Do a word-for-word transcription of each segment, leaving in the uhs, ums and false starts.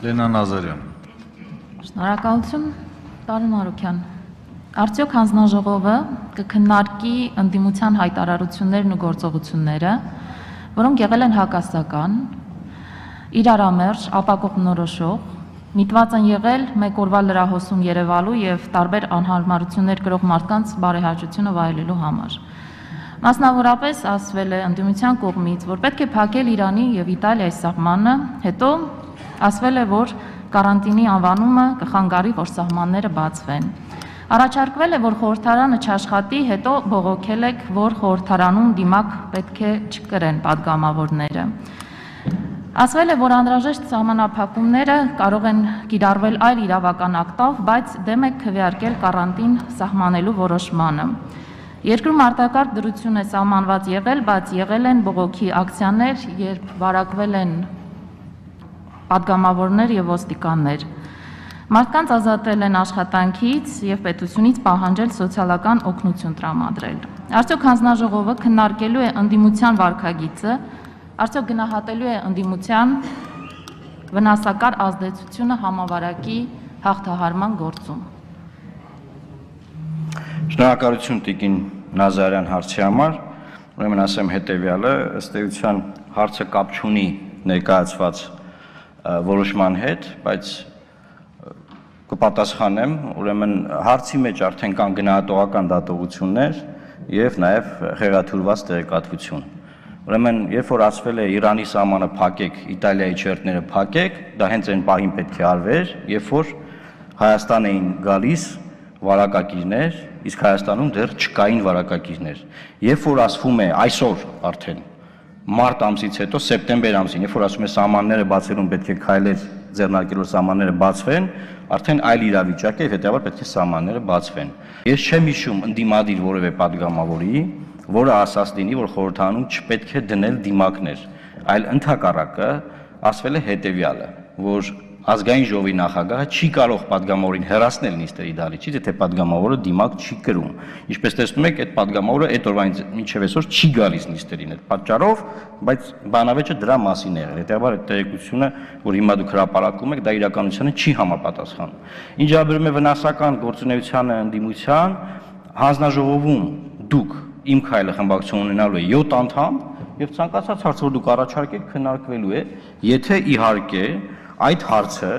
Լենա Նազարյան։ Շնորհակալություն, պարոն Մարուքյան։ Արդյոք հանձնաժողովը կքննարկի ընդդիմության հայտարարություններն ու գործողությունները, որոնք եղել են հակասական, իրարամերժ, ապակողմնորոշող, միտված են եղել մեկ օրվա լրահոսում երևալու եւ տարբեր անհարմարություններ կրող մարդկանց բարեհաճությունը վայելելու համար։ Մասնավորապես ասվել է ընդդիմության կողմից, որ պետք է փակել Իրանի եւ Իտալիայի սահմանը, հետո ասվել է, որ կարանտինի անվանումը կխանգարի, որ սահմանները բացվեն։ Առաջարկվել է, որ խորհրդարանը չաշխատի, հետո բողոքել եք, որ խորհրդարանում դիմակ պետք է չկրեն падգամավորները։ Ասվել է, որ անհրաժեշտ սահմանափակումները կարող են կիրառվել այլ իրավական ակտով, բայց դեմ եք քվեարկել կարանտին սահմանելու որոշմանը։ Երկրում արտակարգ դրություն է սահմանված եղել, բայց եղել են բողոքի ակցիաներ, երբ վարակվել են падգամավորներ եւ ոստիկաններ։ Մարդկանց ազատել են աշխատանքից եւ պետությունից պահանջել սոցիալական օգնություն տրամադրել։ Արդյոք հանձնաժողովը քննարկելու է ընդդիմության վարքագիծը, արդյոք գնահատելու է ընդդիմության վնասակար ազդեցությունը համավարակի հաղթահարման գործում։ Շնորհակալություն Տիկին Նազարյան հարցի համար, ուրեմն ասեմ հետևյալը, ըստ էության հարցը կապ չունի ներկայացված որոշման հետ, բայց կպատասխանեմ, ուրեմն հարցի մեջ արդեն կան գնահատողական դատողություններ եւ նաեւ խեղաթյուրված տեղեկատվություն։ Ուրեմն երբ որ ասվել է Իրանի սահմանը փակեք, Իտալիայի չերտները փակեք, դա հենց այն պահին պետք է արվեր, երբ որ Հայաստան էին գալիս վարակակիրներ, իսկ Հայաստանում դեռ չկային վարակակիրներ։ Երբ որ ասվում է այսօր արդեն մարտ ամսից հետո սեպտեմբեր ամսին, երբ որ ասում է սահմանները բացելուն պետք է քայլեր ձեռնարկելով սահմանները բացվեն, արդեն այլ իրավիճակ է, հետեւաբար պետք է սահմանները բացվեն։ Ես չեմ հիշում ընդդիմադիր որևէ падգամավորի, որը ասած լինի, որ խորհրդարանում չպետք է դնել դիմակներ, այլ ընդհակառակը ասվել է հետևյալը, որ ազգային ժողովի նախագահը չի կարող падգամավորին հեռացնել նիստերի դահլիճից, եթե падգամավորը դիմակ չի կրում։ Ինչպես տեսնում եք, այդ падգամավորը այդ օրվանից մինչև այսօր չի գալիս նիստերին այդ պատճառով, բայց բանավեճը դրա մասին է եղել։ Հետեւաբար այդ տեղեկությունը, որ հիմա դուք հրապարակում եք, դա իրականությանը չի համապատասխանում։ Ինչ վերաբերում է վնասական գործունեությանը ընդդիմության, հանձնաժողովում դուք իմ քայլը խմբակցություն ունենալու է յոթ անդամ եւ ցանկացած հարց, որ դուք առաջարկեք, քննարկվելու է, եթե իհարկե այդ հարցը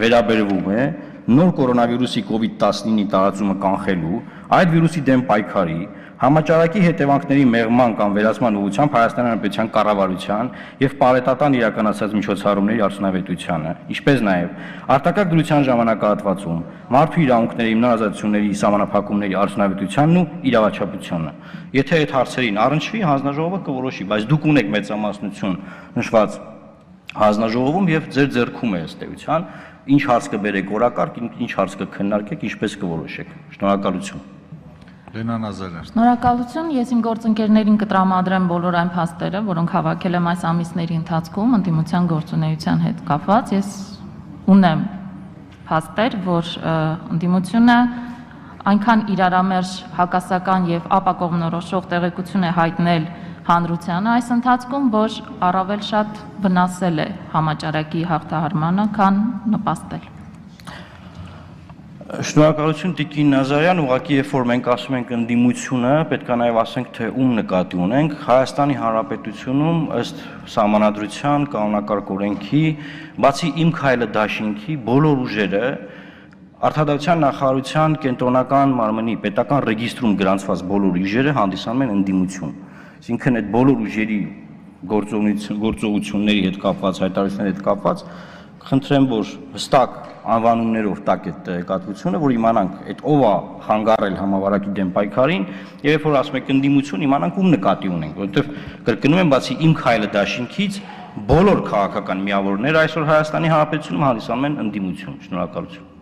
վերաբերվում է նոր կորոնավիրուսի կովիդ տասնինի տարածումը կանխելու, այդ վիրուսի դեմ պայքարի, համաճարակի հետևանքների մեղման կամ վերացման ուղղությամբ Հայաստանի Հանրապետության կառավարության եւ պարետատան իրականացած միջոցառումների արդյունավետությանը, ինչպես նաեւ արտակարգ դրության ժամանակահատվածում մարդու իրավունքների հիմնարարությունների սահմանափակումների արդյունավետությանն ու իրավաչափությունը։ Եթե այդ հարցերին առնչվի, հանձնաժողովը կորոշի, բայց դուք ունեք մեծամասնություն նշված հանձնաժողովում եւ ձեր ձեռքում է ըստ էության, ինչ հարց կբերեք օրակարգ, ինչ հարց կքննարկեք, ինչպես կորոշեք։ Շնորհակալություն։ Լենա Նազարյան։ Շնորհակալություն, ես իմ գործընկերներին կտրամադրեմ բոլոր այն փաստերը, որոնք հավաքել եմ այս ամիսների ընթացքում ընդդիմության գործունեության հետ կապված։ Ես ունեմ փաստեր, որ ընդդիմությունը այնքան իրարամերժ հակասական եւ ապակողմնորոշող տեղեկություն է հայտնել հանրությանը այս ընթացքում, որ առավել շատ վնասել է համաճարակի հաղթահարմանը, քան նպաստել։ Շնորհակալություն Տիկին Նազարյան, ուղղակի երբ որ մենք ասում ենք ընդդիմությունը, պետք է նաև ասենք, թե ում նկատի ունենք։ Հայաստանի Հանրապետությունում ըստ Սահմանադրության, կանոնակարգ օրենքի, բացի Իմ քայլը դաշինքի, բոլոր ուժերը Արտադրության նախարարության կենտրոնական մարմնի պետական ռեգիստրում գրանցված բոլոր ուժերը հանդիսանում են ընդդիմություն։ Այսինքն այդ բոլոր ուժերի գործողությունների հետ կապված, հայտարարությունների հետ կապված, խնդրեմ, որ հստակ անվանումներով տակ այդ տեղեկատվությունը, որ իմանանք այդ ով է խանգարել համավարակի դեմ պայքարին, եւ երբ որ ասում եք ընդդիմություն, իմանանք ում նկատի ունենք, որովհետեւ կրկնում եմ, բացի Իմ քայլը դաշինքից, բոլոր քաղաքական միավորները այսօր Հայաստանի Հանրապետությունում հանդիսանում են ընդդիմություն։ Շնորհակալություն։